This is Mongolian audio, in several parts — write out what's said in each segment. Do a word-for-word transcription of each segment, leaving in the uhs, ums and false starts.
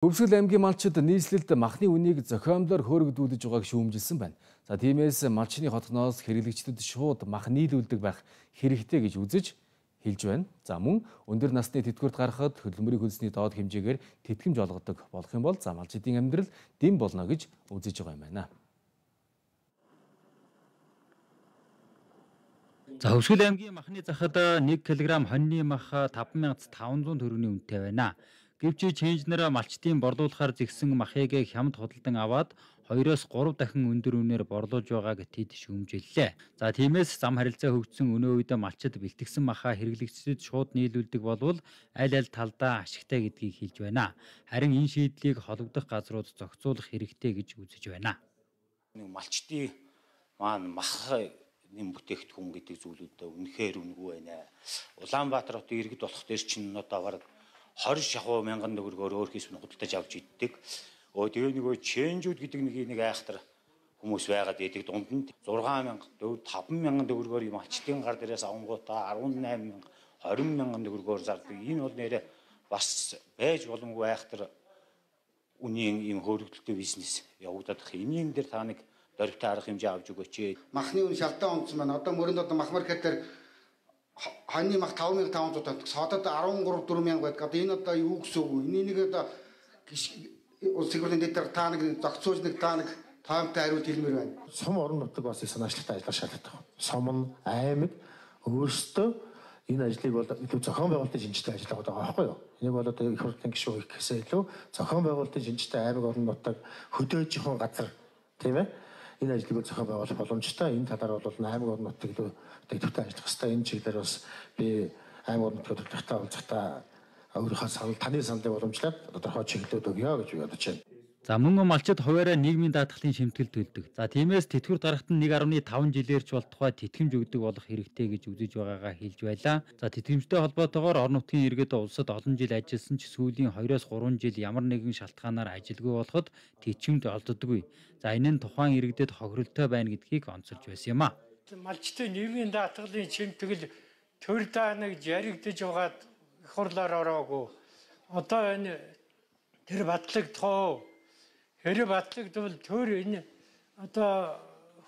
Өвсгөл аймгийн малчид нийслэлд махны үнийг зохиомлоор хөөргөдүүлж байгааг шүүмжилсэн байна. За тиймээс малчны хотгоноос хэрэглэгчдэд шууд мах нийлүүлдэг байх хэрэгтэй гэж үзэж хэлж байна. За мөн өндөр насны тэтгэврт гарахад хөдөлмөрийн хөлсний доод хэмжээгээр тэтгэмж олгодог болох юм бол за малчдын амьдрал дэм болно гэж үзэж байгаа юм байна. За Өвсгөл аймгийн махны захад нэг килограмм хоньны мах таван мянган таван зуун төгрөгийн үнэтэй байна. Гэвч чэнжнэр малчдын борлуулахаар зэгсэн махыг хямд худалдан аваад хоёроос гурав дахин өндөр үнээр борлуулж байгааг тэд шүүмжиллээ. За тиймээс зам харилцаа хөгжсөн өнөө үед малчид бэлтгэсэн махаа хэрэглэгчдэд шууд нийлүүлдэг болвол аль аль талдаа ашигтай гэдгийг хэлж байна. Харин энэ шийдлийг холбогдох газрууд зохицуулах хэрэгтэй гэж үзэж байна. Нэг малчдын маань мах нэм бүтээгдэхүүн гэдэг зүйлүүдээ үнэхээр үнэгүй байна. Улаанбаатар хотын иргэд болох дээр чинь одоо бараг хорин шахуу мянган төгрөгөөр өөр хийс нь худалдаж авч иддэг. Өө тэгээ нөгөө чэнжүүд гэдэг нэг нэг айхтар хүмүүс байгаад идэг дунд нь зургаан мянган төгрөг таван мянган төгрөгөөр юм малчдын гар дээрээс авангуудаа арван найман мянган хорин мянган төгрөгөөр зардаг. Энэ бол нэрээ бас байж боломгүй айхтар үнийн юм хөөрөгдөлтөй бизнес явагдаад их. Энийн дээр та нэг дөрвтэй арга хэмжээ авч өгөөч. Махны үн шалдаа онцсон байна. Одоо мөрөнд одоо мах маркет дээр хоньны мах таван мянган таван зуун тоног, содод арван гурав дөрвөн мянга байдаг. Одоо энэ одоо юу гэсэн үг вэ? Энийг нэг одоо улс төрийн дээр та нэг зохицуулж нэг та нэг таамтай хариулт хэлмээр байна. Сум орон нутаг бас их санаачлагтай ажиллах шаардлагатай. Сум нь аймаг өөрсдөө энэ ажлыг бол илүү зохион байгуулалтын шинжилгээ ажилладаг байгаа байхгүй юу? Энийг бол одоо их хурлын гишүүн гэхээсээ илүү зохион байгуулалтын шинжилгээ аймаг орон нутаг хөдөөж явах газар тийм ээ? Энэ ажлыг зохион байгуулах боломжтой. Энэ талаар бол аймаг орон нутаг илүү дэвтэртэй ажиллах хэрэгтэй. Энэ чиглэлээр бас би аймаг орон нутгийн төлөвлөлтөй уулзахдаа өөрийнхөө санал таны саналыг уламжлаад тодорхой чиглэлүүд өгье гэж бодож байна. За мөн малчид хуваараа нийгмийн даатгалын шимтгэл төлдөг. За тиймээс тэтгэврт гарахад нь нэг гаруй таван жилээрч бол тухай тэтгэмж өгдөг болох хэрэгтэй гэж үзэж байгаагаа хэлж байлаа. За тэтгэмжтэй холбоотойгоор орон нутгийн иргэд улсад олон жил ажилласан ч сүүлийн хоёроос гурван жил ямар нэгэн шалтгаанаар ажилгүй болоход тэтгэмж олддоггүй. За энэ нь тухайн иргэдэд хохиролтой байна гэдгийг онцолж байсан юм а. Малчдын нийгмийн даатгалын шимтгэл төр дааныг жаригдж байгаад их хурлаар ороогүй. Одоо энэ тэр батлагдах хэрэг батлагдвал төр энэ одоо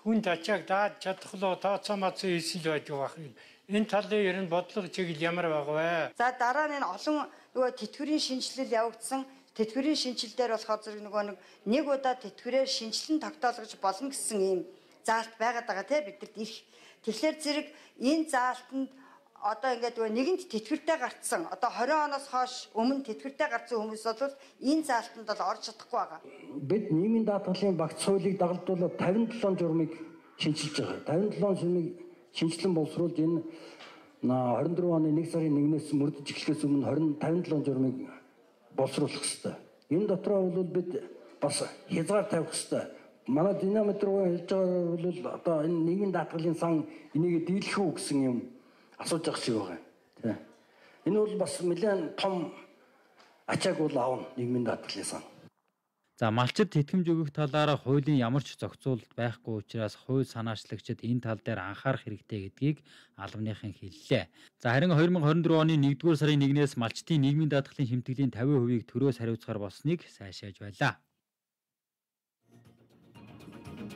хүнд ачааг дааж чадхлоо тооцоо мацсан хийсэл байж байгаа юм. Энэ талын ер нь бодлого чиглэл ямар байгаа вэ? За дараа нь энэ олон нөгөө тэтгэврийн шинжилэл явагдсан. Тэтгэврийн шинжилэлээр болохоор зэрэг нөгөө нэг нэг удаа тэтгэврээр шинжилэн тогтоолгож болно гэсэн ийм заалт байгаад байгаа те бидэрт ирэх. Тэгэхээр зэрэг энэ заалтанд одоо ингээд нэгэнт тэтгэвртэй гарцсан одоо хорин оноос хойш өмнө тэтгэвртэй гарцсан хүмүүс бол энэ заалтанд бол орж чадахгүй байгаа. Бид нийгмийн даатгалын багц хуулийг дагалдуулаад тавин долоо журмыг шинжилж байгаа. тавин долоо журмыг шинжилэн боловсруулж энэ хорин дөрвөн оны нэг сарын нэгнээс мөрдөж эхлэхээс өмнө хорин тавин долоо журмыг боловсруулах хэрэгтэй. Энэ дотроо бол бид бас хязгаар тавих хэрэгтэй. Манай динамит руу хэлж байгаа бол одоо энэ нийгмийн даатгалын сан энийг дийлэх үү гэсэн юм асууж байгаа шиг байгаа. Тийм. Энэ бол бас нэлээд том ачааг бол аавна нийгмийн даатгалын сан. За малчид тэтгэмж өгөх талаараа хуулийн ямар ч зохицуулалт байхгүй учраас хууль санаачлагчид энэ тал дээр анхаарах хэрэгтэй гэдгийг албаныхан хэллээ. За харин хоёр мянган хорин дөрвөн оны нэгдүгээр сарын нэгнээс малчдын нийгмийн даатгалын шимтгэлийн тавин хувийг төрөөс хариуцахаар болсныг сайшааж байлаа.